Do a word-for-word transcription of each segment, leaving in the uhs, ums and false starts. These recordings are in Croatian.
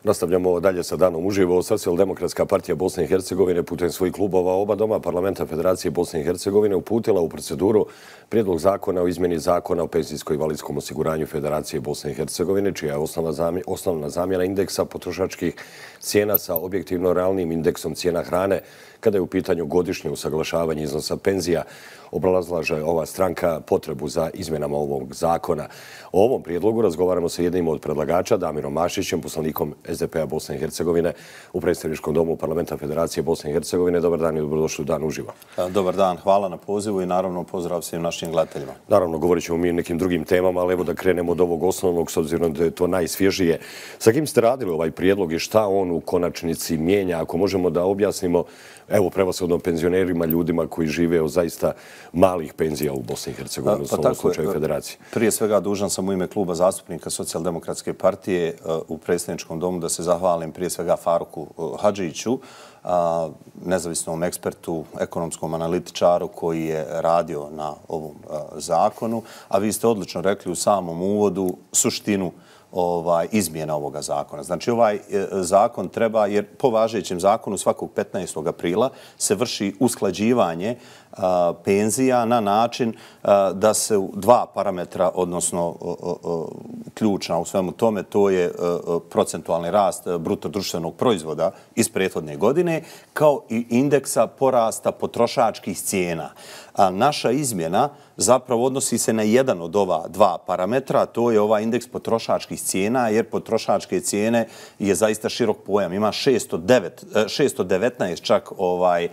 Nastavljamo dalje sa danom uživo. Socijaldemokratska partija Bosne i Hercegovine putem svojih klubova oba doma parlamenta Federacije Bosne i Hercegovine uputila u proceduru prijedlog zakona o izmjeni zakona o penzijsko-invalidskom osiguranju Federacije Bosne i Hercegovine, čija je osnovna zamjena indeksa potrošačkih cijena sa objektivno realnim indeksom cijena hrane kada je u pitanju godišnje usaglašavanje iznosa penzija. Obrazlaže ova stranka potrebu za izmjenama ovog zakona. O ovom prijedlogu razgovaramo sa jednim od predlagača, Damirom Mašićem, poslanikom S D P-a Bosne i Hercegovine u predstavničkom domu parlamenta Federacije Bosne i Hercegovine. Dobar dan i dobrodošli u Dan uživo. Dobar dan, hvala na pozivu i naravno pozdrav svim našim gledateljima. Naravno, govorit ćemo mi o nekim drugim temama, ali evo da krenemo od ovog osnovnog, s obzirom da je to najsvježije. Sa kim ste radili ovaj prijedlog i šta on u konačnici mijenja? Ako možemo da objasnimo, evo, prevashodno penzionerima, ljudima koji žive od zaista malih penzija u Bosni i Hercegovini, u ovom slučaju Federacije. Prije svega dužan sam u ime kluba zastupnika Socijaldemokratske partije u predsjedničkom domu da se zahvalim prije svega Faruku Hadžiću, nezavisnom ekspertu, ekonomskom analitičaru koji je radio na ovom zakonu. A vi ste odlično rekli u samom uvodu suštinu izmjena ovoga zakona. Znači, ovaj zakon treba, jer po važećem zakonu svakog petnaestog aprila se vrši usklađivanje penzija na način da se dva parametra, odnosno ključna u svemu tome, to je procentualni rast bruto društvenog proizvoda iz prethodne godine, kao i indeksa porasta potrošačkih cijena. A naša izmjena zapravo odnosi se na jedan od ova dva parametra, to je ovaj indeks potrošačkih cijena, jer potrošačke cijene je zaista širok pojam. Ima šesto devetnaest čak ovaj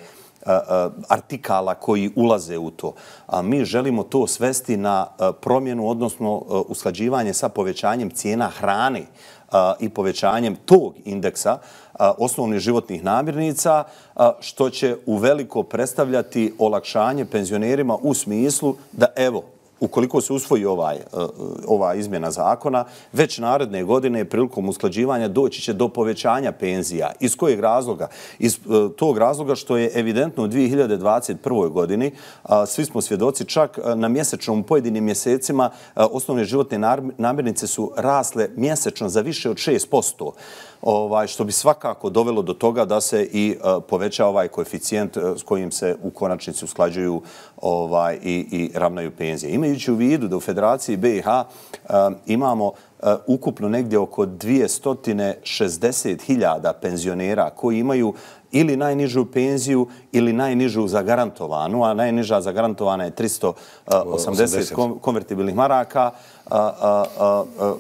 artikala koji ulaze u to. A mi želimo to svesti na promjenu, odnosno usklađivanje sa povećanjem cijena hrane i povećanjem tog indeksa osnovnih životnih namirnica, što će uveliko predstavljati olakšanje penzionerima u smislu da, evo, ukoliko se usvoji ovaj, ova izmjena zakona, već naredne godine prilikom usklađivanja doći će do povećanja penzija. Iz kojeg razloga? Iz tog razloga što je evidentno u dvije hiljade dvadeset prvoj godini, svi smo svjedoci, čak na mjesečnom pojedinim mjesecima osnovne životne namirnice su rasle mjesečno za više od šest posto. Ovaj, što bi svakako dovelo do toga da se i poveća ovaj koeficijent s kojim se u konačnici usklađuju ovaj, i, i ravnaju penzije. Imajući u vidu da u Federaciji B i H um, imamo uh, ukupno negdje oko dvjesto šezdeset hiljada penzionera koji imaju ili najnižu penziju ili najnižu zagarantovanu, a najniža zagarantovana je tristo osamdeset konvertibilnih maraka, uh, uh, uh, uh,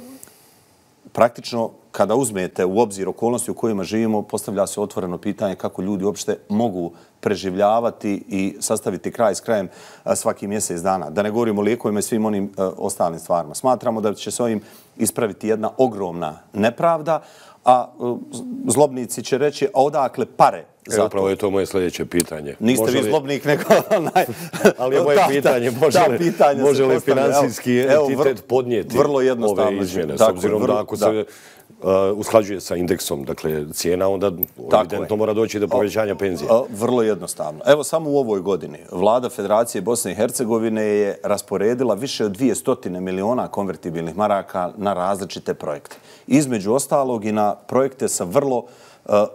praktično kada uzmete u obzir okolnosti u kojima živimo, postavlja se otvoreno pitanje kako ljudi uopšte mogu preživljavati i sastaviti kraj s krajem svaki mjesec dana. Da ne govorimo o lijekovima i svim onim ostalim stvarima. Smatramo da će se ovim ispraviti jedna ogromna nepravda, a zlobnici će reći, a odakle pare? E, upravo je to moje sljedeće pitanje. Niste vi zlobnik, nego... Ali je moje pitanje, može li financijski entitet podnijeti ove izmjene, s obzirom da ako se usklađuje sa indeksom, dakle cijena, onda evidentno mora doći do povećanja penzija. Vrlo jednostavno. Evo samo u ovoj godini Vlada Federacije Bosne i Hercegovine je rasporedila više od dvjesto miliona konvertibilnih maraka na različite projekte. Između ostalog i na projekte sa vrlo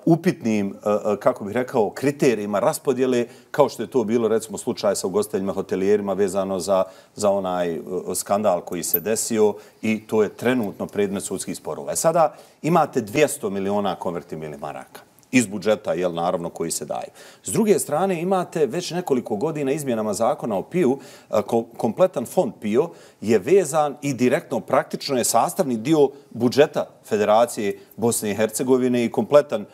upitnim, kako bih rekao, kriterijima raspodjele, kao što je to bilo, recimo, slučaj sa ugostiteljima, hotelijerima vezano za, za onaj skandal koji se desio i to je trenutno predmet sudskih sporova. Sada imate dvjesto miliona konvertibilnih maraka iz budžeta, jel, naravno, koji se daju. S druge strane, imate već nekoliko godina izmjenama zakona o P I U, kompletan fond P I O je vezan i direktno, praktično je sastavni dio budžeta Federacije Bosne i Hercegovine i kompletan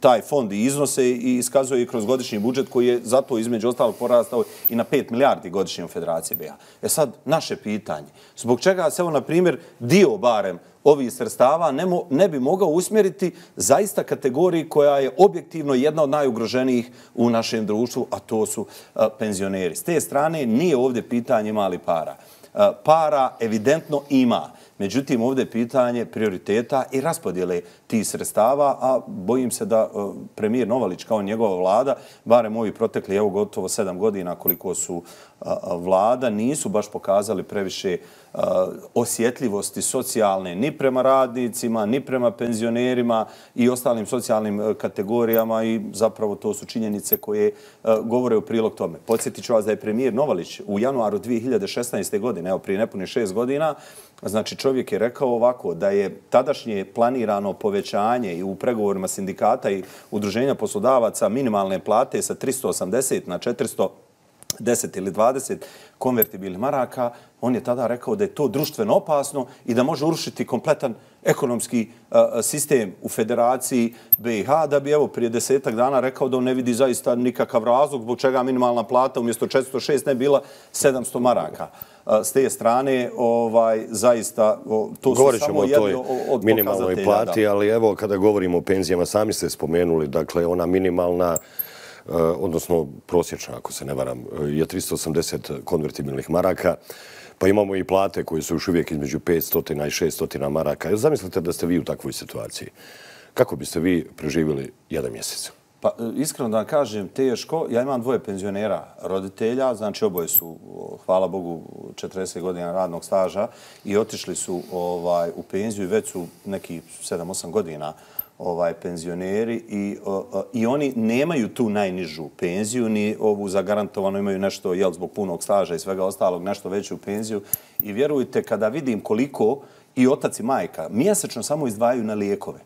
taj fond i iznose i iskazuje i kroz godišnji budžet koji je zato između ostalog porastao i na pet milijardi godišnje u Federaciji B i H. E sad, naše pitanje. Zbog čega se, evo, na primjer, dio barem ovih sredstava ne, mo, ne bi mogao usmjeriti zaista kategoriji koja je objektivno jedna od najugroženijih u našem društvu, a to su a, penzioneri. S te strane nije ovdje pitanje mali para. A, para evidentno ima. Međutim, ovdje je pitanje prioriteta i raspodjele tih sredstava, a bojim se da uh, premijer Novalić kao njegova vlada, barem ovi protekli, evo gotovo sedam godina koliko su uh, vlada, nisu baš pokazali previše osjetljivosti socijalne ni prema radnicima, ni prema penzionerima i ostalim socijalnim kategorijama i zapravo to su činjenice koje govore u prilog tome. Podsjetit ću vas da je premijer Novalić u januaru dvije hiljade šesnaeste. godine, evo prije nepune šest godina, znači čovjek je rekao ovako da je tadašnje planirano povećanje i u pregovorima sindikata i udruženja poslodavaca minimalne plate sa tristo osamdeset na četiristo deset ili dvadeset konvertibilnih maraka, on je tada rekao da je to društveno opasno i da može urušiti kompletan ekonomski uh, sistem u Federaciji B i H, da bi evo prije desetak dana rekao da on ne vidi zaista nikakav razlog zbog čega minimalna plata umjesto četiristo šest ne bila sedamsto maraka. Uh, s te strane, ovaj, zaista, o, to su samo jedni od pokazatelja. Minimalnoj plati, ali evo kada govorimo o penzijama, sami ste spomenuli, dakle ona minimalna Uh, odnosno prosječna, ako se ne varam, je tristo osamdeset konvertibilnih maraka, pa imamo i plate koje su još uvijek između petsto i šesto maraka. Zamislite da ste vi u takvoj situaciji. Kako biste vi preživjeli jedan mjesec? Pa iskreno da vam kažem, teško. Ja imam dvoje penzionera roditelja, znači oboje su, hvala Bogu, četrdeset godina radnog staža i otišli su ovaj, u penziju i već su neki sedam osam godina ovaj penzioneri i, o, o, i oni nemaju tu najnižu penziju, ni ovu zagarantovano, imaju nešto, jel, zbog punog staža i svega ostalog, nešto veću penziju. I vjerujte, kada vidim koliko i otac i majka mjesečno samo izdvajaju na lijekove.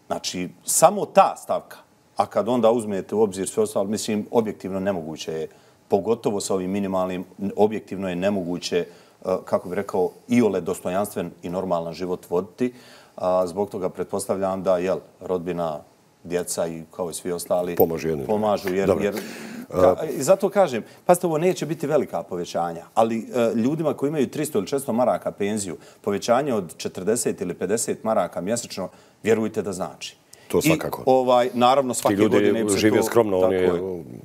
Znači, samo ta stavka. A kad onda uzmete u obzir sve ostalo, mislim, objektivno nemoguće je, pogotovo sa ovim minimalnim, objektivno je nemoguće, kako bih rekao, iole dostojanstven i normalan život voditi. A zbog toga pretpostavljam da, jel, rodbina, djeca i kao i svi ostali pomažu, pomažu jer, jer ka, i zato kažem, pazite, ovo neće biti velika povećanja, ali e, ljudima koji imaju tristo ili četiristo maraka penziju, povećanje od četrdeset ili pedeset maraka mjesečno, vjerujte da znači. To svakako. I, ovaj, naravno, svake godine... Ti ljudi žive skromno, oni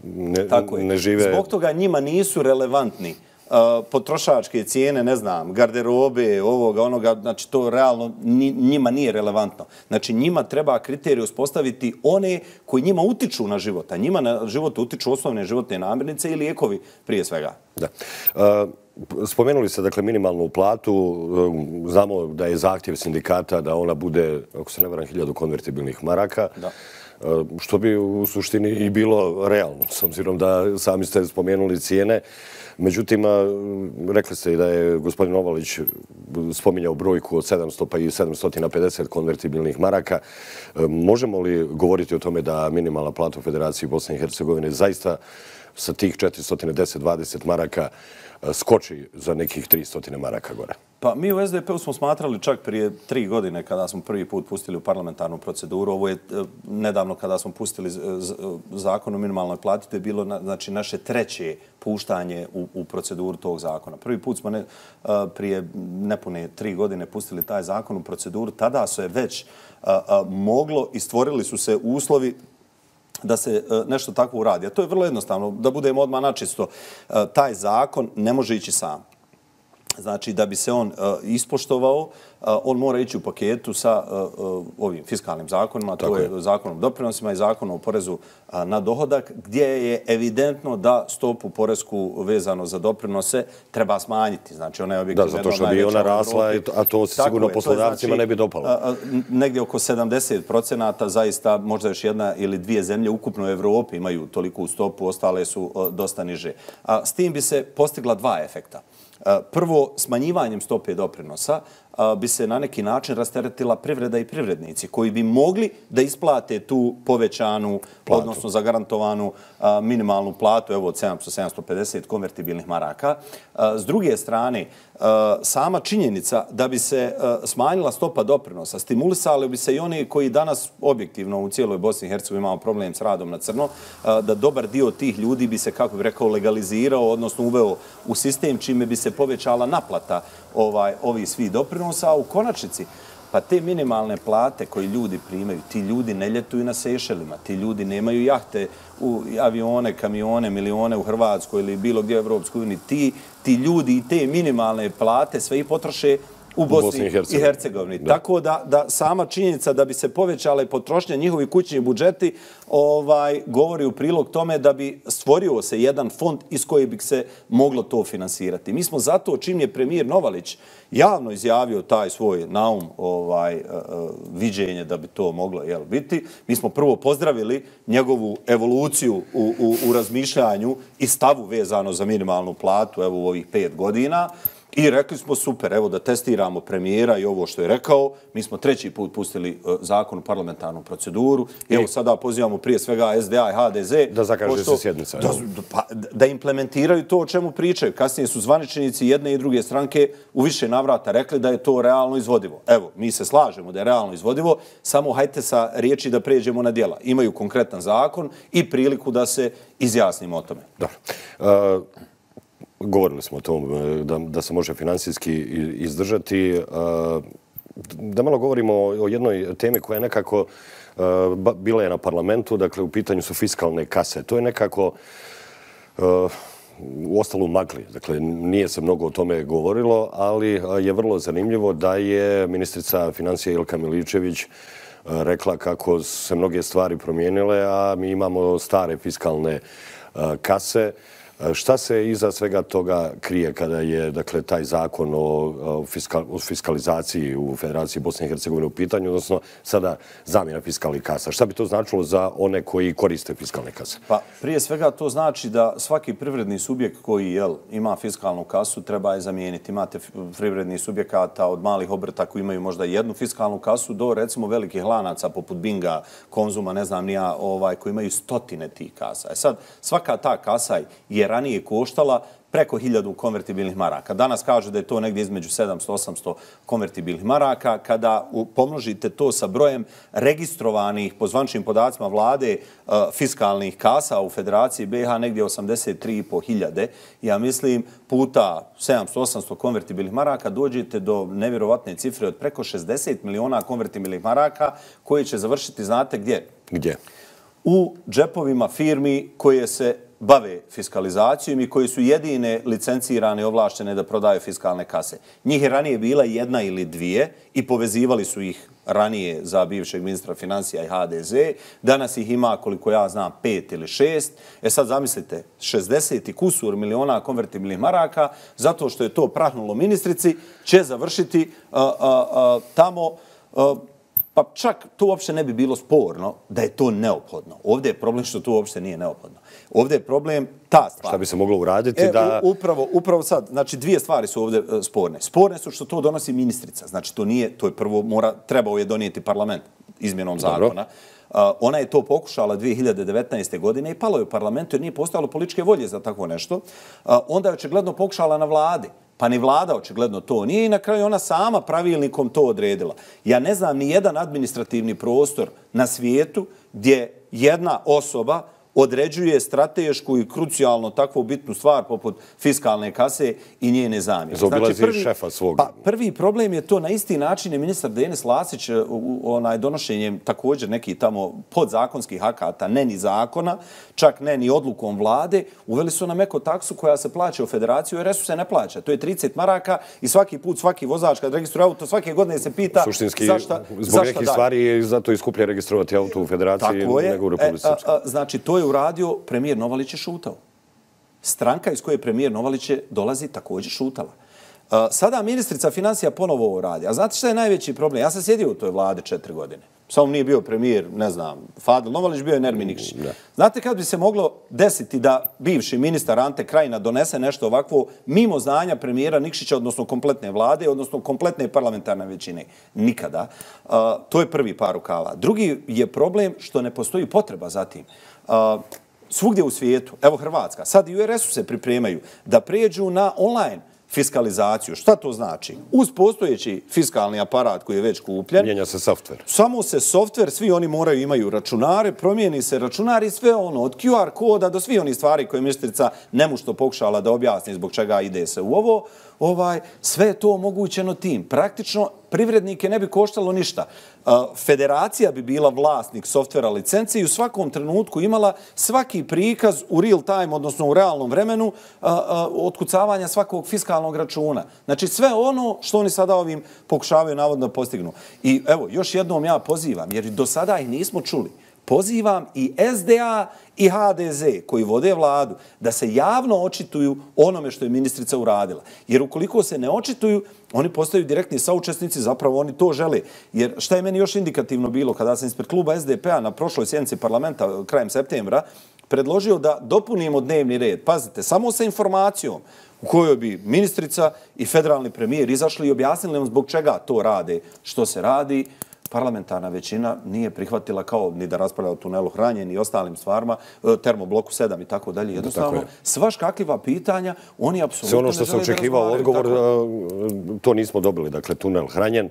ne, ne žive... Zbog toga njima nisu relevantni Uh, potrošačke cijene, ne znam, garderobe, ovoga, onoga, znači to realno njima nije relevantno. Znači njima treba kriterije uspostaviti one koji njima utiču na život, a njima na život utiču osnovne životne namirnice i lijekovi prije svega. Da. Uh, spomenuli ste, dakle, minimalnu platu. Znamo da je zahtjev sindikata da ona bude, ako se ne varam, hiljadu konvertibilnih maraka. Da. Što bi u suštini i bilo realno, s obzirom da sami ste spomenuli cijene. Međutim, rekli ste i da je gospodin Novalić spominjao brojku od sedamsto pa i sedamsto pedeset konvertibilnih maraka. Možemo li govoriti o tome da minimalna plata u Federaciji Bosne i Hercegovine zaista sa tih četiristo deset do dvadeset maraka skoči za nekih tristo maraka gore? Pa mi u S D P-u smo smatrali čak prije tri godine kada smo prvi put pustili u parlamentarnu proceduru. Ovo je nedavno kada smo pustili zakon o minimalnoj plati, to je bilo znači, naše treće puštanje u, u proceduru tog zakona. Prvi put smo ne, prije nepune tri godine pustili taj zakon u proceduru. Tada se već a, a, moglo i stvorili su se uslovi da se nešto takvo uradi. A to je vrlo jednostavno. Da budemo odmah načisto, taj zakon ne može ići sam. Znači, da bi se on uh, ispoštovao, uh, on mora ići u paketu sa uh, ovim fiskalnim zakonima, to je, je zakonom o doprinosima i zakonom o porezu uh, na dohodak, gdje je evidentno da stopu poresku vezano za doprinose treba smanjiti. Znači, ona je objektivno... Da, zato što bi ona rasla, a to se sigurno je, poslodavcima znači, ne bi dopalo. Uh, negdje oko sedamdeset procenata, zaista možda još jedna ili dvije zemlje ukupno u Evropi imaju toliku stopu, ostale su uh, dosta niže. A s tim bi se postigla dva efekta. Prvo, smanjivanjem stope doprinosa bi se na neki način rasteretila privreda i privrednici koji bi mogli da isplate tu povećanu, platu, odnosno zagarantovanu minimalnu platu, evo od sedamsto do sedamsto pedeset konvertibilnih maraka. S druge strane, sama činjenica da bi se smanjila stopa doprinosa, stimulisali bi se i oni koji danas objektivno u cijeloj Bosni i Hercegovini imamo problem s radom na crno, da dobar dio tih ljudi bi se, kako bih rekao, legalizirao, odnosno uveo u sistem čime bi se povećala naplata ovaj, ovih svih doprinosa, a u konačnici pa te minimalne plate koje ljudi primaju, ti ljudi ne ljetuju na Sejšelima, ti ljudi nemaju jahte, u avione, kamione, milione u Hrvatskoj ili bilo gdje u Evropskoj uniji. Ti, ti ljudi i te minimalne plate sve ih potroše u Bosni i Hercegovini. Tako da, da sama činjenica da bi se povećale potrošnje njihovi kućni budžeti ovaj, govori u prilog tome da bi stvorio se jedan fond iz koje bi se moglo to finansirati. Mi smo zato, čim je premijer Novalić javno izjavio taj svoj naum ovaj, uh, viđenje da bi to moglo jel, biti, mi smo prvo pozdravili njegovu evoluciju u, u, u razmišljanju i stavu vezano za minimalnu platu evo, u ovih pet godina. I rekli smo super, evo da testiramo premijera i ovo što je rekao. Mi smo treći put pustili uh, zakon u parlamentarnu proceduru. I evo sada pozivamo prije svega S D A i H D Z. Da zakaže pošto, se sjednica. Da, pa, da implementiraju to o čemu pričaju. Kasnije su zvaničnici jedne i druge stranke u više navrata rekli da je to realno izvodivo. Evo, mi se slažemo da je realno izvodivo, samo hajte sa riječi da pređemo na djela. Imaju konkretan zakon i priliku da se izjasnimo o tome. Dobro. Uh... Govorili smo o tom da, da se može finansijski izdržati. Da malo govorimo o jednoj temi koja je nekako bila je na parlamentu, dakle u pitanju su fiskalne kase. To je nekako u ostalo magli. Dakle, nije se mnogo o tome govorilo, ali je vrlo zanimljivo da je ministrica financija Ilka Miličević rekla kako se mnoge stvari promijenile, a mi imamo stare fiskalne kase. Šta se iza svega toga krije kada je dakle, taj zakon o, fiskal, o fiskalizaciji u Federaciji Bosne i Hercegovine u pitanju, odnosno sada zamjena fiskalnih kasa? Šta bi to značilo za one koji koriste fiskalne kase? Pa prije svega to znači da svaki privredni subjekt koji jel, ima fiskalnu kasu treba je zamijeniti. Imate privredni subjekata od malih obrta koji imaju možda jednu fiskalnu kasu do recimo velikih lanaca poput Binga, Konzuma, ne znam nija, ovaj, koji imaju stotine tih kasa. E sad, svaka ta kasa je ranije koštala preko hiljadu konvertibilnih maraka. Danas kažu da je to negdje između sedamsto do osamsto konvertibilnih maraka. Kada pomnožite to sa brojem registrovanih po zvančnim podacima vlade uh, fiskalnih kasa u Federaciji B i H negdje osamdeset tri i pol hiljade, ja mislim puta sedamsto do osamsto konvertibilnih maraka dođete do nevjerovatne cifre od preko šezdeset miliona konvertibilnih maraka koje će završiti, znate gdje? Gdje? U džepovima firmi koje se bave fiskalizacijom i koji su jedine licencirane i ovlaštene da prodaju fiskalne kase. Njih je ranije bila jedna ili dvije i povezivali su ih ranije za bivšeg ministra financija i H D Z. Danas ih ima, koliko ja znam, pet ili šest. E sad zamislite, šezdeset i kusur miliona konvertibilnih maraka, zato što je to prahnulo ministrici, će završiti uh, uh, uh, tamo... Uh, Pa čak to uopšte ne bi bilo sporno da je to neophodno. Ovdje je problem što to uopšte nije neophodno. Ovdje je problem ta stvar. Šta bi se moglo uraditi e, da... Upravo, upravo sad, znači dvije stvari su ovdje uh, sporne. Sporne su što to donosi ministrica. Znači to nije, to je prvo, mora, trebao je donijeti parlament izmjenom zakona. Uh, ona je to pokušala dvije hiljade devetnaeste. godine i palo je u parlamentu jer nije postojalo političke volje za takvo nešto. Uh, onda je očigledno pokušala na vladi. Pa ni vlada očigledno to nije i na kraju ona sama pravilnikom to odredila. Ja ne znam ni jedan administrativni prostor na svijetu gdje jedna osoba određuje stratešku i krucijalno takvu bitnu stvar poput fiskalne kase i njene zamjene. Zaobilazi znači, šefa svog. Pa prvi problem je to na isti način je ministar Denis Lasić onaj, donošenjem također nekih tamo podzakonskih akata, ne ni zakona, čak ne ni odlukom vlade, uveli su nam eko taksu koja se plaća u federaciju, jer R S U se ne plaća. To je trideset maraka i svaki put svaki vozač kad registruje auto svake godine se pita suštinski, zašta, zbog zašta nekih dalje. Stvari je zato i skuplje registrovati auto u federaciji nego u Republici Srpskoj. E, znači, to je uradio, premijer Novalić je šutao. Stranka iz koje premijer Novalić dolazi također šutala. Uh, sada ministrica financija ponovo ovo radi. A znate šta je najveći problem? Ja sam sjedio u toj vladi četiri godine. Samo nije bio premijer, ne znam, Fadil Novalić, bio je Nermin Nikšić. Mm, znate kad bi se moglo desiti da bivši ministar Ante Krajina donese nešto ovakvo mimo znanja premijera Nikšića, odnosno kompletne vlade, odnosno kompletne parlamentarne većine? Nikada. Uh, to je prvi par rukava. Drugi je problem što ne postoji potreba za tim. Uh, svugdje u svijetu, evo Hrvatska, sad i u R S U se pripremaju da pređu na online fiskalizaciju. Šta to znači? Uz postojeći fiskalni aparat koji je već kupljen, mijenja se softver. Samo se softver, svi oni moraju imaju računare, promijeni se računari, sve ono od Q R koda do svi oni stvari koje ministrica nemušto pokušala da objasni zbog čega ide se u ovo. ovaj, sve je to omogućeno tim. Praktično, privrednike ne bi koštalo ništa. Federacija bi bila vlasnik softvera licence i u svakom trenutku imala svaki prikaz u real time, odnosno u realnom vremenu, otkucavanja svakog fiskalnog računa. Znači sve ono što oni sada ovim pokušavaju navodno postignu. I evo, još jednom ja pozivam, jer do sada ih nismo čuli, pozivam i S D A i H D Z koji vode vladu da se javno očituju onome što je ministrica uradila. Jer ukoliko se ne očituju, oni postaju direktni saučesnici, zapravo oni to žele. Jer šta je meni još indikativno bilo kada sam ispred kluba S D P-a na prošloj sjednici parlamenta krajem septembra predložio da dopunimo dnevni red. Pazite, samo sa informacijom u kojoj bi ministrica i federalni premijer izašli i objasnili nam zbog čega to rade, što se radi. Parlamentarna većina nije prihvatila kao ni da raspravlja o tunelu Hranjen i ostalim stvarima, termobloku sedam i tako dalje. Jednostavno, svaš kakva pitanja, oni apsolutno sve ono što se očekivao odgovor, to nismo dobili. Dakle, tunel Hranjen,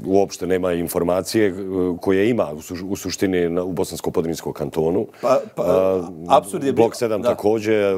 uopšte nema informacije koje ima u suštini u Bosansko-Podrinjskom kantonu. Blok sedam također,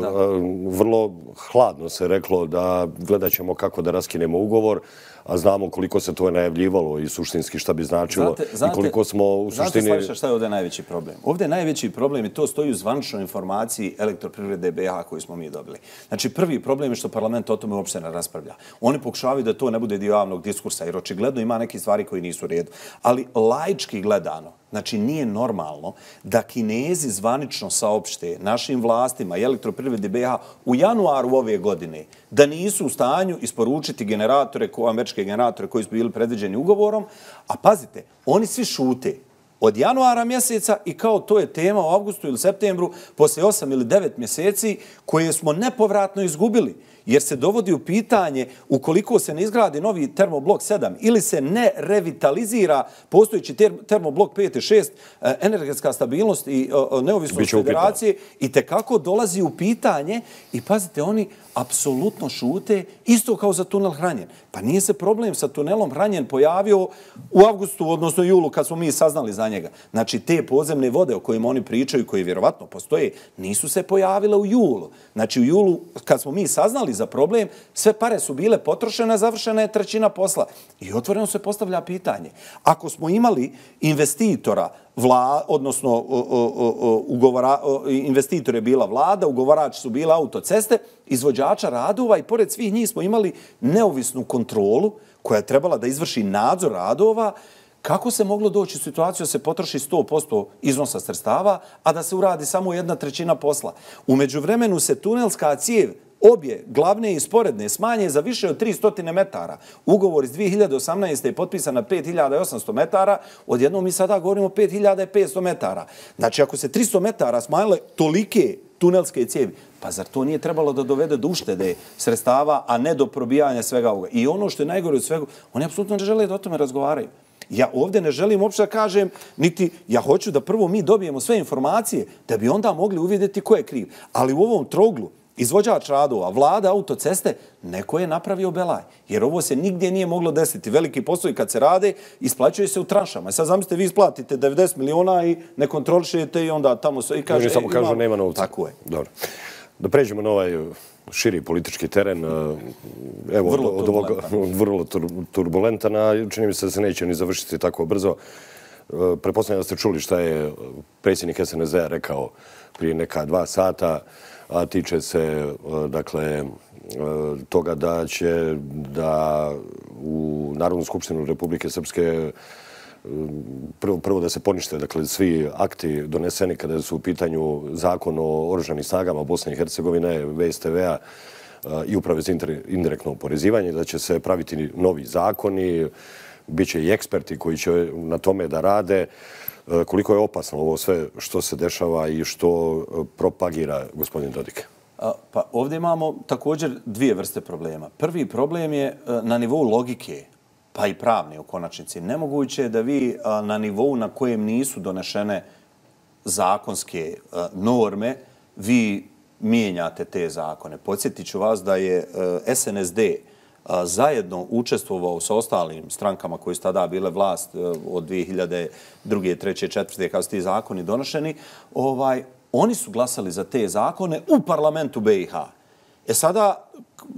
vrlo hladno se reklo da gledat ćemo kako da raskinemo ugovor, a znamo koliko se to je najavljivalo i suštinski šta bi značilo i koliko smo u suštini... Znate, Slaviša, šta je ovdje najveći problem? Ovdje je najveći problem i to stoji u zvaničnoj informaciji Elektroprivrede B iH koju smo mi dobili. Znači, prvi problem je što parlament o tome uopšte ne raspravlja. Oni pokušavaju da to ne bude dio javnog diskursa, jer očigledno ima neke stvari koji nisu u redu. Ali laički gledano, znači nije normalno da Kinezi zvanično saopšte našim vlastima i Elektroprivredi B iH u januaru ove godine da nisu u stanju isporučiti generatore, američke generatore koji su bili predviđeni ugovorom, a pazite, oni svi šute od januara mjeseca i kao to je tema u avgustu ili septembru poslije osam ili devet mjeseci koje smo nepovratno izgubili. Jer se dovodi u pitanje ukoliko se ne izgradi novi termoblok sedam ili se ne revitalizira postojeći termoblok pet i šest, energetska stabilnost i neovisnost federacije i tekako dolazi u pitanje i pazite, oni apsolutno šute isto kao za tunel Hranjen. Pa nije se problem sa tunelom Hranjen pojavio u avgustu, odnosno julu, kad smo mi saznali za njega. Znači, te podzemne vode o kojima oni pričaju, koje vjerovatno postoje, nisu se pojavile u julu. Znači, u julu, kad smo mi saznali za problem, sve pare su bile potrošene, završena je trećina posla. I otvoreno se postavlja pitanje. Ako smo imali investitora, Vla, odnosno ugovora, investitor je bila vlada, ugovarači su bila autoceste, izvođača radova i pored svih njih smo imali neovisnu kontrolu koja je trebala da izvrši nadzor radova. Kako se moglo doći u situaciju da se potroši sto posto iznosa sredstava, a da se uradi samo jedna trećina posla? U međuvremenu se tunelska cijev obje glavne i sporedne smanje za više od tristo metara. Ugovor iz dvije hiljade osamnaeste. je potpisan na pet hiljada osamsto metara, odjednom mi sada govorimo o pet hiljada petsto metara. Znači, ako se tristo metara smanjile tolike tunelske cijevi, pa zar to nije trebalo da dovede do uštede sredstava, a ne do probijanja svega ovoga? I ono što je najgore od svega, oni apsolutno ne žele da o tome razgovaraju. Ja ovdje ne želim uopšte da kažem, niti ja hoću da prvo mi dobijemo sve informacije, da bi onda mogli uvidjeti ko je kriv. Ali u ovom troglu, izvođač radova, vlada, autoceste, neko je napravio belaj. Jer ovo se nigdje nije moglo desiti. Veliki poslovi kad se rade, isplaćuje se u tranšama. Sad zamislite, vi isplatite devedeset miliona i ne kontrolišete i onda tamo se i kaže... Oni samo kažu nema novca. Tako je. Dobro. Da pređemo na ovaj širi politički teren. Evo, vrlo od ovoga vrlo turbulentan, a čini mi se da se neće ni završiti tako brzo. Pretpostavljam da ste čuli šta je predsjednik S N Z-a rekao prije neka dva sata, a tiče se, dakle, toga da će da u Narodnu skupštinu Republike Srpske prvo, prvo da se ponište, dakle, svi akti doneseni kada su u pitanju zakon o oružanim snagama Bosne i Hercegovine, V S T V-a i uprave za indirektno oporezivanje, da će se praviti novi zakoni, bit će i eksperti koji će na tome da rade. Koliko je opasno ovo sve što se dešava i što propagira gospodin Dodik? Pa ovdje imamo također dvije vrste problema. Prvi problem je na nivou logike, pa i pravne u konačnici. Nemoguće je da vi na nivou na kojem nisu donešene zakonske norme, vi mijenjate te zakone. Podsjetit ću vas da je S N S D zajedno učestvovao sa ostalim strankama koji su tada bile vlast od dvije hiljade druge, treće, četvrte kada su ti zakoni donošeni, ovaj, oni su glasali za te zakone u parlamentu B iH. E sada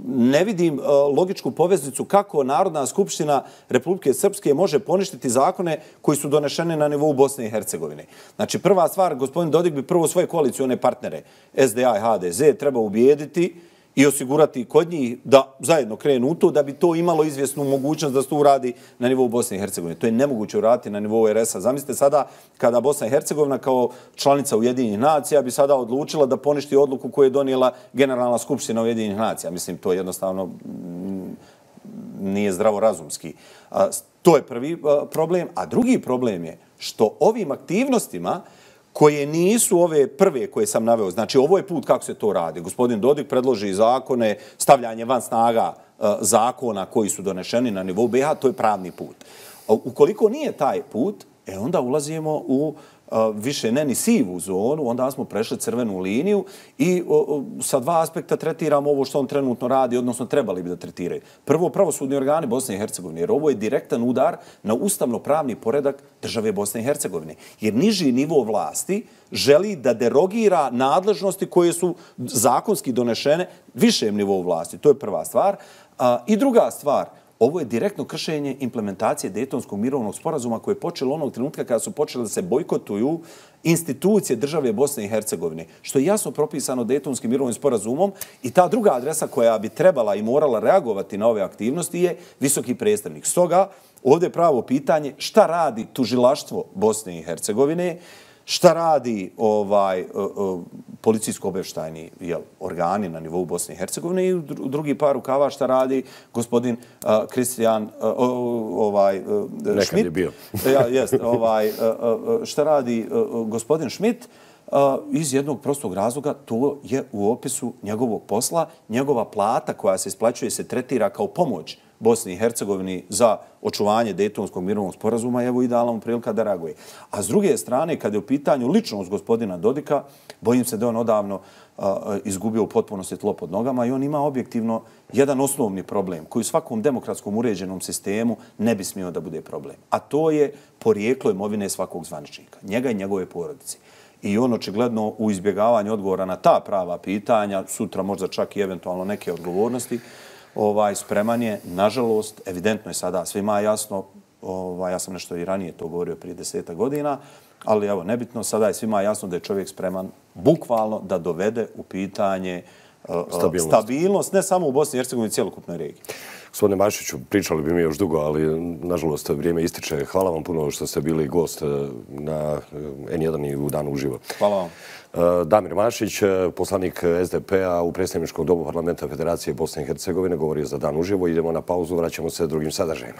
ne vidim logičku poveznicu kako Narodna skupština Republike Srpske može poništiti zakone koji su donešeni na nivou Bosne i Hercegovine. Znači, prva stvar, gospodin Dodik bi prvo svoje koalicione partnere, S D A i H D Z, treba ubijediti i osigurati kod njih da zajedno krenu u to, da bi to imalo izvjesnu mogućnost da se to uradi na nivou Bosne i Hercegovine. To je nemoguće uraditi na nivou R S-a. Zamislite sada kada Bosna i Hercegovina kao članica Ujedinjenih nacija bi sada odlučila da poništi odluku koju je donijela Generalna skupština Ujedinjenih nacija. Mislim, to jednostavno nije zdravorazumski. To je prvi problem. A drugi problem je što ovim aktivnostima koje nisu ove prve koje sam naveo. Znači, ovo je put kako se to radi. Gospodin Dodik predloži zakone, stavljanje van snaga zakona koji su donešeni na nivou B iH, to je pravni put. Ukoliko nije taj put, e onda ulazimo u više ne ni sivu zonu, onda smo prešli crvenu liniju i sa dva aspekta tretiramo ovo što on trenutno radi, odnosno trebali bi da tretiraju. Prvo, pravosudni organi Bosne i Hercegovine, jer ovo je direktan udar na ustavno-pravni poredak države Bosne i Hercegovine. Jer niži nivo vlasti želi da derogira nadležnosti koje su zakonski donešene višem nivou vlasti. To je prva stvar. I druga stvar, ovo je direktno kršenje implementacije Dejtonskog mirovnog sporazuma koje je počelo onog trenutka kada su počeli da se bojkotuju institucije države Bosne i Hercegovine, što je jasno propisano Dejtonskim mirovnim sporazumom i ta druga adresa koja bi trebala i morala reagovati na ove aktivnosti je visoki predstavnik. Stoga, ovdje je pravo pitanje šta radi tužilaštvo Bosne i Hercegovine, šta radi ovaj policijsko-obavještajni organi na nivou Bosne i Hercegovine i u drugi par rukava šta radi gospodin Kristijan Šmit. Nekad je bio. Šta radi gospodin Šmit iz jednog prostog razloga, to je u opisu njegovog posla. Njegova plata koja se isplaćuje se tretira kao pomoć Bosni i Hercegovini za očuvanje Dejtonskog mirovnog sporazuma, evo idealna mu prilika da reaguje. A s druge strane, kada je u pitanju ličnost gospodina Dodika, bojim se da je on odavno izgubio u potpunosti tlo pod nogama i on ima objektivno jedan osnovni problem koji u svakom demokratskom uređenom sistemu ne bi smio da bude problem. A to je porijeklo imovine svakog zvaničnika, njega i njegove porodice. I on očigledno u izbjegavanju odgovora na ta prava pitanja, sutra možda čak i eventualno neke odgovornosti, Ovaj, spreman je, nažalost, evidentno je sada svima jasno, ovaj, ja sam nešto i ranije to govorio prije deseta godina, ali evo, nebitno, sada je svima jasno da je čovjek spreman bukvalno da dovede u pitanje uh, stabilnost. stabilnost, ne samo u Bosni i Hercegovini, cijelokupnoj regiji. Gospodine Mašiću, pričali bi mi još dugo, ali nažalost vrijeme ističe. Hvala vam puno što ste bili gost na N jedan i u Danu uživo. Hvala vam. Damir Mašić, poslanik S D P-a u predstavničkom domu Parlamenta Federacije Bosne i Hercegovine, govorio za Dan uživo. Idemo na pauzu, vraćamo se drugim sadržajima.